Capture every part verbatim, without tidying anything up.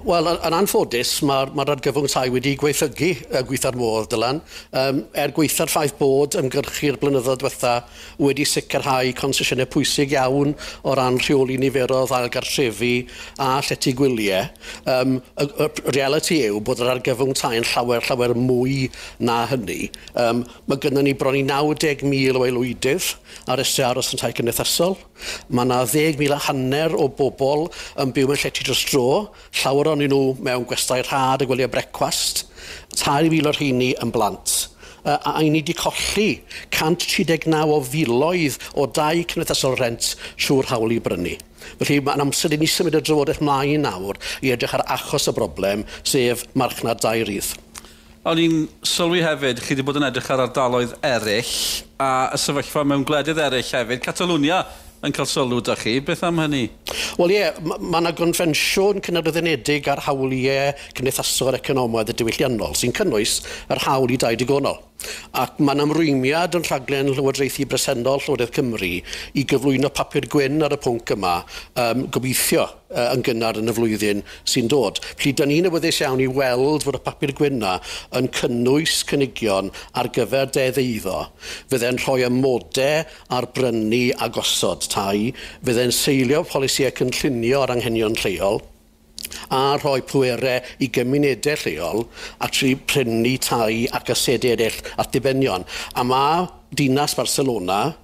Wel, yn anffodus, mae'r ma argyfwng tai wedi gweithygu y gweitha'r modd, Dylan. Um, er gweitha'r ffaith bod ymgyrchu'r blynyddoedd diwetha wedi sicrhau consesiynau pwysig iawn o ran rheoli niferoedd ail gartrefi a llety gwyliau. Um, y, y reality yw bod yr argyfwng tai yn llawer, llawer mwy na hynny. Um, mae gynnon ni bron i naw deg mil o aelwydydd ar restr aros yn tai cymdeithasol. Mae yna ddeg mil a hanner o bobl yn byw mewn llety dros dro, llawer ohonyn nhw mewn gwestai rhad a gwelyau brecwast, tair mil o'r rheini yn blant. Uh, a ni wedi colli cant tri deg naw o filoedd o dai cymdeithasol rent trwy'r hawl i brynu. Felly mae'n amser i ni symud y drafodaeth mlaen nawr i edrych ar achos y broblem, sef marchnad dai rydd. O'n i'n sylwi hefyd, chi wedi bod yn edrych ar ardaloedd eraill a y sefyllfa mewn gwledydd eraill hefyd. Catalwnia yn cael sylw da chi, beth am hynny? Wel ie, ma' 'na gonfensiwn Cenhedloedd Unedig ar hawliau cymdeithasol, economaidd a diwylliannol sy'n cynnwys yr hawl i dai digonol. Ac mae'n ymrwymiad yn rhaglen llywodraethu bresennol Llywodraeth Cymru i gyflwyno papur gwyn ar y pwnc yma, um, gobeithio uh, yn gynnar yn y flwyddyn sy'n dod. Felly, da ni'n awyddus iawn i weld fod y papur gwyn yna yn cynnwys cynigion ar gyfer deddf eiddo, fydde'n rhoi amodau ar brynu a gosod tai, fydde'n seilio polisïau cynllunio ar anghenion lleol, a rhoi pwerau i gymunedau lleol actually prynu tai ac asedau eraill at ddibenion. A mae dinas Barcelona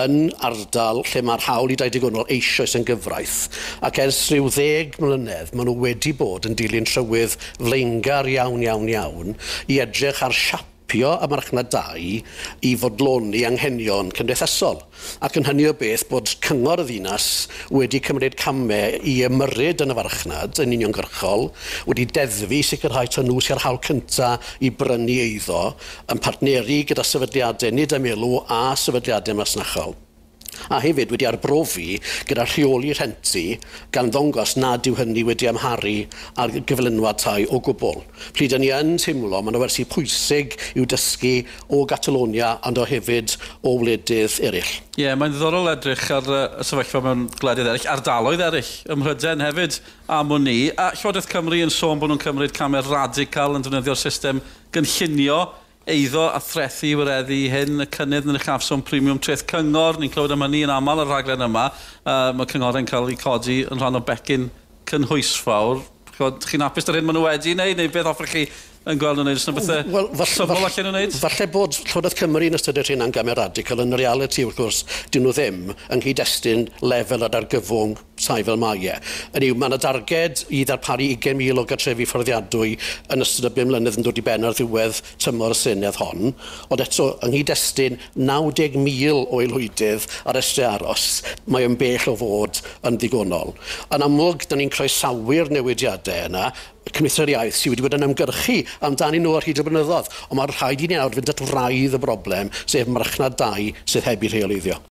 yn ardal lle mae'r hawl i dai digonol eisoes yn gyfraith. Ac ers rhyw ddeg mlynedd, maen nhw wedi bod yn dilyn trywydd flaengar iawn, iawn, iawn i edrych ar siapio y marchnad dai i fodloni anghenion cymdeithasol. Ac yn hynny o beth bod cyngor y ddinas wedi cymryd camau i ymyrryd yn y farchnad yn uniongyrchol, wedi deddfu sicrhau taw nhw sydd â'r hawl cynta i brynu eiddo, yn partneri gyda sefydliadau nid am elw a sefydliadau masnachol. A hefyd wedi arbrofi gyda rheoli rhenti gan ddangos nad yw hynny wedi amharu ar gyflenwad tai o gwbl. Felly, da ni yn teimlo, mae yna wersi pwysig i'w dysgu o Catalonia ond o hefyd o wledydd eraill. Ie, yeah, mae'n ddiddorol edrych ar y sefyllfa mewn gwledydd eraill, ardaloedd eraill, ym Mhrydain hefyd am wn i. A Llywodraeth Cymru yn sôn bod nhw'n cymryd camau radical yn defnyddio'r system gynllunio eiddo a threthu i wireddu hyn, y cynnydd yn y uchafswm premiwm treth cyngor, ni'n clywed am hynny yn aml ar rhaglen yma. Uh, mae cynghorau'n cael eu codi yn rhan o becyn cynhwysfawr. Chi'n hapus ar hyn maen nhw wedi wneud, neu beth hoffech chi yn gweld nhw'n wneud? Oes 'na bethau Wel, fall- syml fall- allan nhw'n wneud? Falle bod Llywodraeth Cymru yn ystyried hynna'n gamau radical, yn y realiti wrth gwrs, dyn nhw ddim yng nghyd-destun lefel yr argyfwng tai fel mae e. Hynny yw, mae yna darged i ddarparu ugain mil o gartrefi fforddiadwy yn ystod y bum mlynedd yn dod i ben ar ddiwedd tymor y Senedd hon, ond eto, yng nghyd-destun naw deg mil o aelwydydd ar restr aros, mae yn bell o fod yn ddigonol. Yn amlwg, da ni'n croesawu'r newidiadau yna, Cymdeithas yr Iaith sydd wedi bod yn ymgyrchu amdanyn nhw ar hyd y blynyddoedd, ond mae'n rhaid i ni nawr fynd at wraidd y broblem, sef marchnad dai sydd heb ei rheoleiddio.